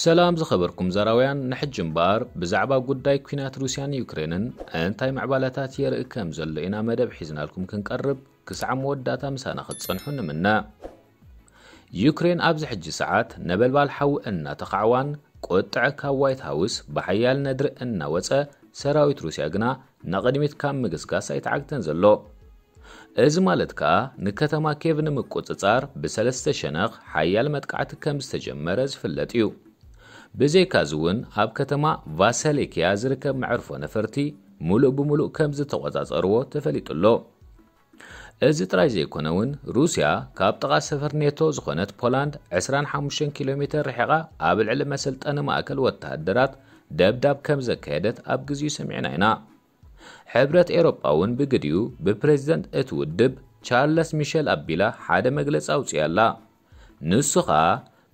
ሰላም ዝኸበርኩም ዘራውያን፣ ንሕጂ እምበኣር ብዛዕባ ጉዳይ ኲናት ሩስያን ዩክሬንን እንታይ ምዕባለታት የርኢ ከም ዘሎ ኢና መደብ ሒዝናልኩም ክንቀርብ። ክሳዕ መወዳእታ ምሳና ክትጸንሑ ንምነ። ዩክሬን ኣብዚ ሕጂ ሰዓት ነበልባል ሓዊ እናተኻዕዋን ቁጥዐ ካብ ዋይት ሃውስ ብሓያል ነድሪ እናወጸ፣ ሰራዊት ሩስያ ግና ንቕድሚት ካብ ምግስጋስ ኣይተዓግተን ዘሎ። እዚ ማለት ከኣ ንከተማ ኬቭ ንምቁጽጻር ብሰለስተ ሸነኽ ሓያል መጥቃዕቲ ከም ዝተጀመረ ዝፍለጥ እዩ። ብዘይካዚ እውን ኣብ ከተማ ቫሰሌኪያ ዝርከብ መዕርፎ ነፈርቲ ሙሉእ ብሙሉእ ከም ዝተቖጻጸርዎ ተፈሊጡ ኣሎ። እዚ ጥራይ ዘይኮነ እውን ሩስያ ካብ ጥቓ ሰፈር ኔቶ ዝኾነት ፖላንድ ዕስራን ሓሙሽተን ኪሎ ሜተር ርሒቓ ኣብ ልዕሊ መሰልጠኒ ማእከል ወተሃደራት ደብዳብ ከም ዘካየደት ኣብ ግዜኡ ሰሚዕና ኢና። ሕብረት ኤውሮጳ እውን ብግዲኡ ብፕሬዝደንት እቲ ውድብ ቻርለስ ሚሸል ኣቢላ ሓደ መግለጺ ኣውጺኣ ኣላ። ንሱ ኸኣ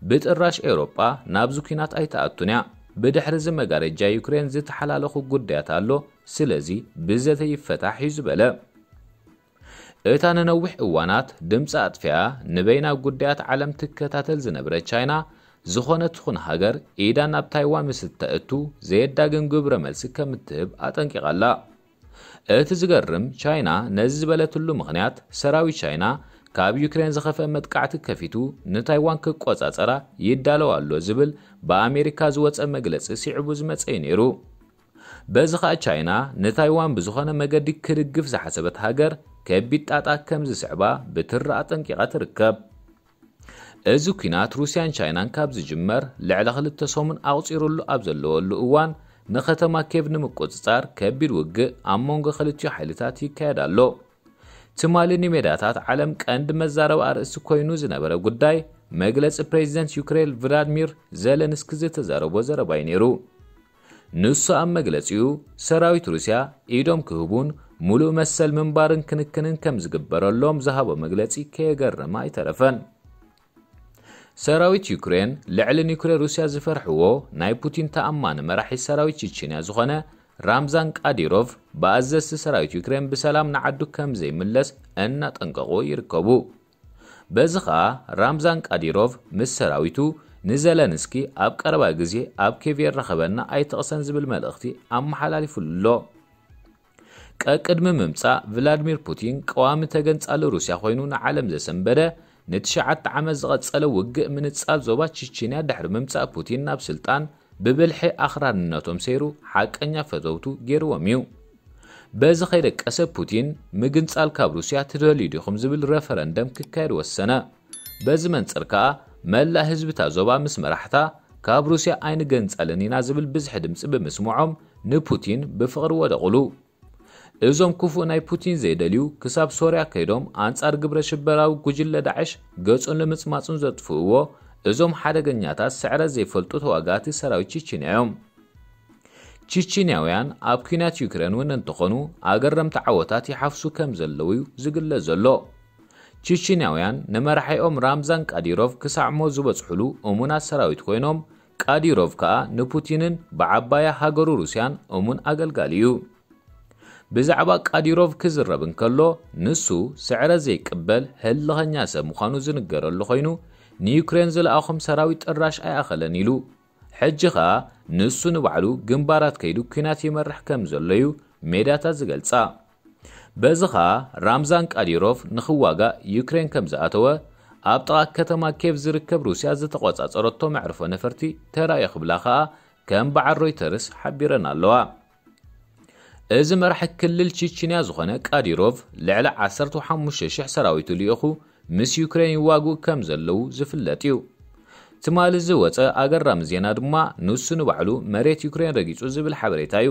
ብጥራሽ ኤውሮጳ ናብዚ ኲናት ኣይትኣቱን እያ። ብድሕሪ እዚ መጋረጃ ዩክሬን ዝተሓላለኹ ጉዳያት ኣሎ፣ ስለዚ ብዘተ ይፈታሕ እዩ ዝበለ። እታ ንነዊሕ እዋናት ድምፂ ኣጥፊኣ ንበይና ጉዳያት ዓለም ትከታተል ዝነበረት ቻይና፣ ዝኾነት ትኹን ሃገር ኢዳ ናብ ታይዋን ምስ እተእቱ ዘየዳግም ግብረ መልሲ ከም እትህብ ኣጠንቂቓ ኣላ። እቲ ዝገርም፣ ቻይና ነዚ ዝበለትሉ ምኽንያት፣ ሰራዊት ቻይና ካብ ዩክሬን ዝኸፍአ መጥቃዕቲ ከፊቱ ንታይዋን ክቆጻጸራ ይዳለው ኣሎ ዝብል ብኣሜሪካ ዝወጸ መግለጺ ስዒቡ ዝመጸ እዩ ነይሩ። በዚ ኸኣ ቻይና ንታይዋን ብዝኾነ መገዲ ክድግፍ ዝሓሰበት ሃገር ከቢድ ጣጣ ከም ዝስዕባ ብትሪ ኣጠንቂቓ ትርከብ። እዚ ኲናት ሩስያን ቻይናን ካብ ዝጅመር ልዕሊ ክልተ ሰሙን ኣቑጺሩሉ ኣብ ዘለወሉ እዋን፣ ንከተማ ኬቭ ንምቁጽጻር ከቢድ ውግእ ኣብ መንጎ ክልቲኡ ሓይልታት ይካየድ ኣሎ። ትማሊ ንሜዳታት ዓለም ቀንዲ መዛረቢ ኣርእስቲ ኮይኑ ዝነበረ ጉዳይ፣ መግለጺ ፕሬዚደንት ዩክሬን ቭላድሚር ዘለንስኪ ዝተዛረቦ ዘረባ እዩ ነይሩ። ንሱ ኣብ መግለጺኡ፣ ሰራዊት ሩስያ ኢዶም ክህቡን ሙሉእ መሰል ምንባርን ክንክንን ከም ዝግበረሎም ዝሃቦ መግለጺ ከየገረመ ኣይተረፈን። ሰራዊት ዩክሬን ልዕሊ ኒውክሌር ሩስያ ዝፈርሕዎ ናይ ፑቲን ተኣማኒ መራሒ ሰራዊት ቺቺንያ ዝኾነ ራምዛን ቃዲሮቭ፣ ብኣዘዝቲ ሰራዊት ዩክሬን ብሰላም ንዓዱ ከም ዘይምለስ እናጠንቀቑ ይርከቡ። በዚ ኸኣ ራምዛን ቃዲሮቭ ምስ ሰራዊቱ ንዘለንስኪ ኣብ ቀረባ ግዜ ኣብ ኬቭ የራኸበና ኣይትቕሰን ዝብል መልእኽቲ ኣመሓላሊፉሉ ኣሎ። ቀቅድሚ ምምጻእ ቭላድሚር ፑቲን ቀዋሚ ተገንጻሊ ሩስያ ኮይኑ ንዓለም ዘሰንበደ፣ ንትሽዓተ ዓመት ዝቐጸለ ውግእ ምንጻል ዞባ ቺቺንያ ድሕሪ ምምጻእ ፑቲን ናብ ስልጣን፣ ብብልሒ ኣኽራንነቶም ሰይሩ ሓቀኛ ፈተውቱ ገይርዎም እዩ። በዚ ከይደቀሰ ፑቲን፣ ምግንጻል ካብ ሩስያ ትደልዩ ዲኹም ዝብል ረፈረንደም ክካየድ ወሰነ። በዚ መንጽር ከኣ መላእ ህዝብታ ዞባ ምስ መራሕታ፣ ካብ ሩስያ ኣይንገንጸልን ኢና ዝብል ብዝሒ ድምጺ ብምስምዖም፣ ንፑቲን ብፍቕሪ ወደቑሉ። እዞም ክፉእ ናይ ፑቲን ዘይደልዩ ክሳብ ሶርያ ከይዶም ኣንጻር ግብረ ሽበራዊ ጉጅለ ዳዕሽ ገጹን ልምጽማጹን ዘጥፍእዎ እዞም ሓደገኛታት ስዕረት ዘይፈልጡ ተዋጋእቲ ሰራዊት ቺቺንያ እዮም። ቺቺንያውያን ኣብ ኲናት ዩክሬን እውን እንተኾኑ ኣገረምቲ ዓወታት ይሓፍሱ ከም ዘለዉ እዩ ዝግለጽ ዘሎ። ቺቺንያውያን ንመራሒኦም ራምዛን ቃዲሮቭ ክሳዕ ሞት ዝበጽሑሉ እሙናት ሰራዊት ኮይኖም፣ ቃዲሮቭ ከኣ ንፑቲንን ብዓባያ ሃገሩ ሩስያን እሙን ኣገልጋሊ እዩ። ብዛዕባ ቃዲሮቭ ክዝረብ እንከሎ፣ ንሱ ስዕረት ዘይቅበል ህልኸኛ ሰብ ምዃኑ ዝንገረሉ ኮይኑ፣ ንዩክሬን ዝለኣኾም ሰራዊት ጥራሽ ኣይኣኸለን ኢሉ። ሕጂ ኸኣ ንሱ ንባዕሉ ግንባራት ከይዱ ኲናት ይመርሕ ከም ዘሎ እዩ ሜድያታት ዝገልጻ። በዚ ኸኣ ራምዛን ቃዲሮቭ ንኽዋጋእ ዩክሬን ከም ዝኣተወ፣ ኣብ ጥቓ ከተማ ኬቭ ዝርከብ ሩስያ ዝተቖጻጸረቶ መዕርፎ ነፈርቲ ተራእዮ ክብላ ኸኣ ከም በዓል ሮይተርስ ሓቢረን ኣለዋ። እዚ መራሒ ክልል ቺቺንያ ዝኾነ ቃዲሮቭ፣ ልዕሊ ዓሰርተ ሓሙሽተ ሽሕ ሰራዊቱ ልኢኹ ምስ ዩክሬን ይዋግኡ ከም ዘለዉ ዝፍለጥ እዩ። ትማሊ ዝወጸ ኣገራሚ ዜና ድማ፣ ንሱ ንባዕሉ መሬት ዩክሬን ረጊጹ ዝብል ሓበሬታ እዩ።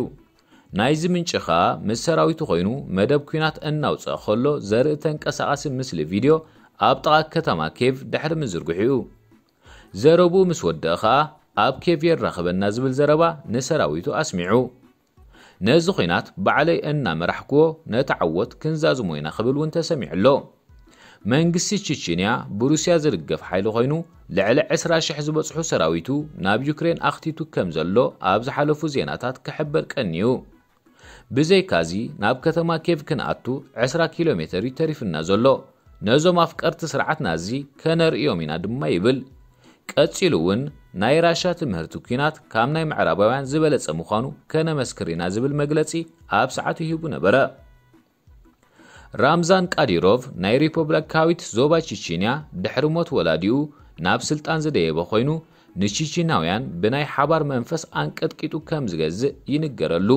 ናይዚ ምንጪ ኸኣ፣ ምስ ሰራዊቱ ኮይኑ መደብ ኲናት እናውጽአ ከሎ ዘርኢ ተንቀሳቓሲ ምስሊ ቪድዮ ኣብ ጥቓ ከተማ ኬቭ ድሕሪ ምዝርግሑ እዩ። ዘረብኡ ምስ ወደአ ኸኣ፣ ኣብ ኬቭ የራኽበና ዝብል ዘረባ ንሰራዊቱ ኣስሚዑ። ነዚ ኹናት ባዕለይ እናመራሕክዎ ነቲ ዓወት ክንዛዝሞ ኢና ክብል እውን ተሰሚዑ ኣሎ። መንግስቲ ቺቺንያ ብሩስያ ዝድገፍ ሓይሊ ኮይኑ፣ ልዕሊ ዕስራ ሽሕ ዝበጽሑ ሰራዊቱ ናብ ዩክሬን ኣኽቲቱ ከም ዘሎ ኣብ ዝሓለፉ ዜናታት ክሕበር ቀንዩ። ብዘይካዚ፣ ናብ ከተማ ኬቭ ክንኣቱ ዕስራ ኪሎ ሜተር እዩ ተሪፍና ዘሎ። ነዞም ኣፍቀርቲ ስርዓት ናዚ ከነርእዮም ኢና ድማ ይብል። ቀጺሉ እውን፣ ናይ ራሻ ትምህርቲ ኲናት ካብ ናይ ምዕራባውያን ዝበለጸ ምዃኑ ከነመስክር ኢና ዝብል መግለጺ ኣብ ሰዓቱ ሂቡ ነበረ። ራምዛን ቃዲሮቭ ናይ ሪፖብሊካዊት ዞባ ቺቺንያ ድሕሪ ሞት ወላዲኡ ናብ ስልጣን ዝደየበ ኮይኑ፣ ንቺቺናውያን ብናይ ሓባር መንፈስ ኣንቀጥቂጡ ከም ዝገዝእ ይንገረሉ።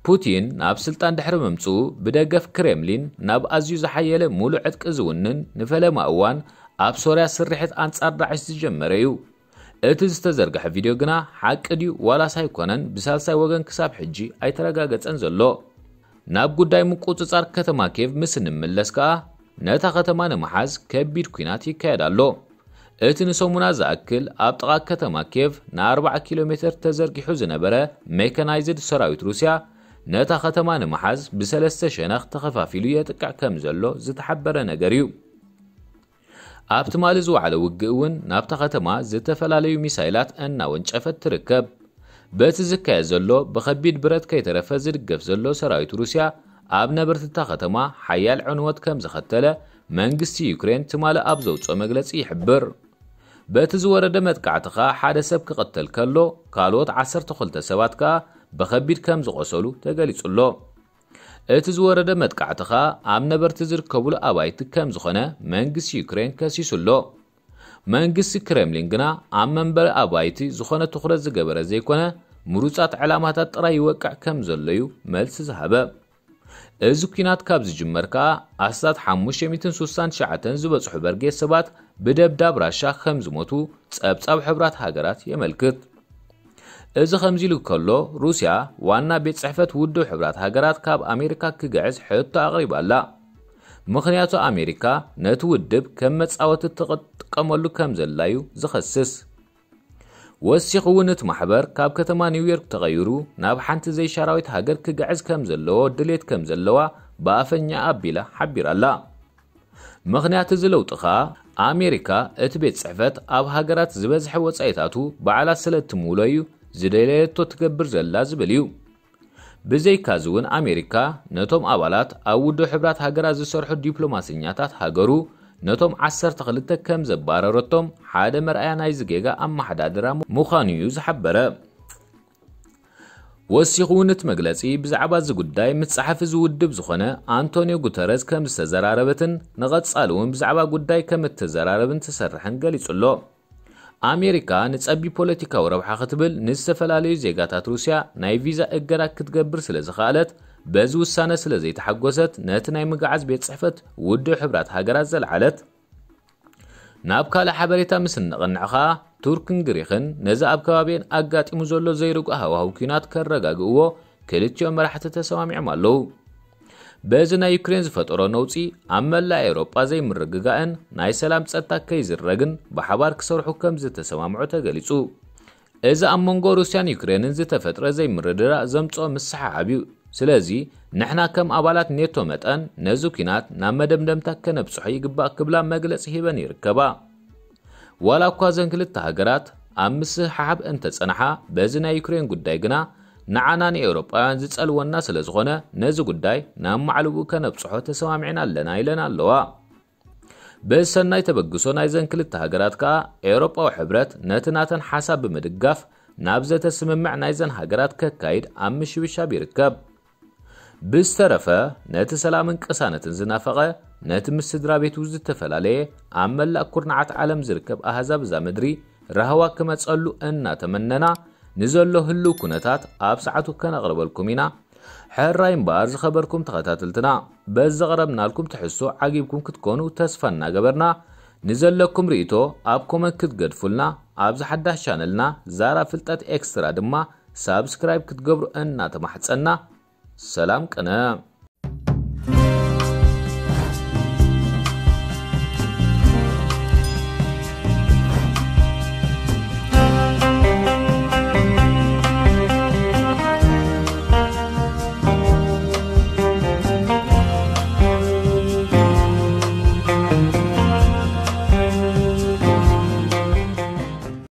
ፑቲን ናብ ስልጣን ድሕሪ ምምጽኡ ብደገፍ ክሬምሊን ናብ ኣዝዩ ዝሓየለ ሙሉእ ዕጥቂ ዝውንን ንፈለማ እዋን ኣብ ሶርያ ስርሒት ኣንጻር ዳዕሽ ዝጀመረ እዩ። እቲ ዝተዘርግሐ ቪድዮ ግና ሓቂ ድዩ ዋላስ ኣይኮነን ብሳልሳይ ወገን ክሳብ ሕጂ ኣይተረጋገጸን ዘሎ። ናብ ጉዳይ ምቁጽጻር ከተማ ኬቭ ምስ እንምለስ ከኣ ነታ ከተማ ንምሓዝ ከቢድ ኲናት ይካየድ ኣሎ። እቲ ንሰሙና ዝኣክል ኣብ ጥቓ ከተማ ኬቭ ን40 ኪሎ ሜተር ተዘርጊሑ ዝነበረ ሜካናይዝድ ሰራዊት ሩስያ ነታ ከተማ ንምሓዝ ብሰለስተ ሸነኽ ተኸፋፊሉ የጥቅዕ ከም ዘሎ ዝተሓበረ ነገር እዩ። ኣብ ትማሊ ዝወዓለ ውግእ እውን ናብታ ከተማ ዝተፈላለዩ ሚሳይላት እናወንጨፈት ትርከብ። በቲ ዝካየድ ዘሎ ብኸቢድ ብረት ከይተረፈ ዝድገፍ ዘሎ ሰራዊት ሩስያ ኣብ ነበርቲ እታ ከተማ ሓያል ዕንወት ከም ዘኸተለ መንግስቲ ዩክሬን ትማሊ ኣብ ዘውፅኦ መግለፂ ይሕብር። በቲ ዝወረደ መጥቃዕቲ ከኣ ሓደ ሰብ ክቐተል ከሎ ካልኦት ዓሰርተ ክልተ ሰባት ከኣ ብኸቢድ ከም ዝቖሰሉ ተገሊጹ ኣሎ። እቲ ዝወረደ መጥቃዕቲ ከኣ ኣብ ነበርቲ ዝርከቡሉ ኣባይቲ ከም ዝኾነ መንግስቲ ዩክሬን ከሲሱ ኣሎ። መንግስቲ ክሬምሊን ግና ኣብ መንበሪ ኣባይቲ ዝኾነ ትኹረት ዝገበረ ዘይኮነ ምሩጻት ዕላማታት ጥራይ ይወቅዕ ከም ዘሎ እዩ መልሲ ዝሃበ። እዚ ኲናት ካብ ዝጅመር ከኣ ኣስታት ሓሙሽተ ሚእትን ስሳን ትሽዓተን ዝበጽሑ በርጌስ ሰባት ብደብዳብ ራሻ ከም ዝሞቱ ጸብጻብ ሕብራት ሃገራት የመልክት። እዚ ከምዚ ኢሉ ከሎ ሩስያ ዋና ቤት ጽሕፈት ውድብ ሕብራት ሃገራት ካብ ኣሜሪካ ክግዕዝ ሕቶ ኣቕሪባ ኣላ። ምኽንያቱ ኣሜሪካ ነቲ ውድብ ከም መጻወቲ ትጥቀመሉ ከም ዘላ እዩ ዝኸስስ። ወሲኹ እውን እቲ ማሕበር ካብ ከተማ ኒውዮርክ ተቐይሩ ናብ ሓንቲ ዘይሻራዊት ሃገር ክግዕዝ ከም ዘለዎ ድሌት ከም ዘለዋ ብኣፈኛ ኣቢላ ሓቢራ ኣላ። ምኽንያት እዚ ለውጢ ከኣ ኣሜሪካ እቲ ቤት ጽሕፈት ኣብ ሃገራት ዝበዝሐ ወጻኢታቱ ባዕላ ስለ እትምውሎ እዩ ዝደለየቶ ትገብር ዘላ ዝብል እዩ። ብዘይካዚ እውን ኣሜሪካ ነቶም ኣባላት ኣብ ውድብ ሕብራት ሃገራት ዝሰርሑ ዲፕሎማሰኛታት ሃገሩ ነቶም ዓሰርተ ክልተ ከም ዘባረረቶም ሓደ መርኣያ ናይዚ ጌጋ ኣመሓዳድራ ምዃኑ እዩ ዝሓበረ። ወሲኹ እውን እቲ መግለጺ ብዛዕባ እዚ ጉዳይ ምስ ጸሓፊ ዝውድብ ዝኾነ ኣንቶኒዮ ጉተረዝ ከም ዝተዘራረበትን ንቐጻሊ እውን ብዛዕባ ጉዳይ ከም እተዘራረብን ትሰርሕን ገሊጹ ኣሎ። ኣሜሪካ ንጸቢ ፖለቲካዊ ረብሓ ክትብል ንዝተፈላለዩ ዜጋታት ሩስያ ናይ ቪዛ እገዳ ክትገብር ስለ ዝኸኣለት በዚ ውሳነ ስለ ዘይተሓጎሰት ነቲ ናይ ምግዓዝ ቤት ጽሕፈት ውድብ ሕብራት ሃገራት ዘልዓለት። ናብ ካልእ ሓበሬታ ምስ እንቕንዕ ኸኣ ቱርክን ግሪኽን ነዚ ኣብ ከባቢአን ኣጋጢሙ ዘሎ ዘይርጉእ ሃዋህው ኲናት ከረጋግእዎ ክልቲኦም መራሕቲ ተሰማሚዖም ኣለዉ። በዚ ናይ ዩክሬን ዝፈጠሮ ነውጺ ኣብ መላእ ኤውሮጳ ዘይምርግጋእን ናይ ሰላም ጸጥታ ከይዝረግን ብሓባር ክሰርሑ ከም ዝተሰማምዑ ተገሊጹ። እዚ ኣብ መንጎ ሩስያን ዩክሬንን ዝተፈጥረ ዘይምርድዳእ ዘምጽኦ ምስሕሓብ እዩ። ስለዚ ንሕና ከም ኣባላት ኔቶ መጠን ነዚ ኲናት ናብ መደምደምታ ከነብጽሖ ይግባእ ክብላ መግለጺ ሂበን ይርከባ። ዋላ እኳ እዘን ክልተ ሃገራት ኣብ ምስሕሓብ እንተጸንሓ በዚ ናይ ዩክሬን ጉዳይ ግና ንዓና ንኤውሮጳውያን ዝጸልወና ስለ ዝኾነ ነዚ ጉዳይ ናብ ማዕልብኡ ከነብጽሖ ተሰማሚዕና ኣለና ኢለን ኣለዋ። ብሰናይ ተበግሶ ናይዘን ክልተ ሃገራት ከኣ ኤውሮጳዊ ሕብረት ነቲ ናተን ሓሳብ ብምድጋፍ ናብ ዘተ ስምምዕ ናይዘን ሃገራት ከካይድ ኣብ ምሽብሻብ ይርከብ። ብዝተረፈ ነቲ ሰላምን ቅሳነትን ዝናፈቐ ነቲ ምስ ስድራ ቤቱ ዝተፈላለየ ኣብ መላእ ኩርናዓት ዓለም ዝርከብ ኣህዛብ እዛ ምድሪ ራህዋ ክመጸሉ እናተመነና ንዘሎ ህልው ኩነታት ኣብ ሰዓቱ ከነቕርበልኩም ኢና። ሕራይ እምበኣር ዝኸበርኩም ተኸታተልትና በዚ ዘቕረብናልኩም ትሕዝቶ ዓጊብኩም ክትኮኑ ተስፋ እናገበርና ንዘለኩም ርእይቶ ኣብ ኮመንት ክትገድፉልና ኣብዚ ሓዳሽ ቻነልና ዛራ ፍልጠት ኤክስትራ ድማ ሳብስክራይብ ክትገብሩ እናተማሕጸና ሰላም ቅነ።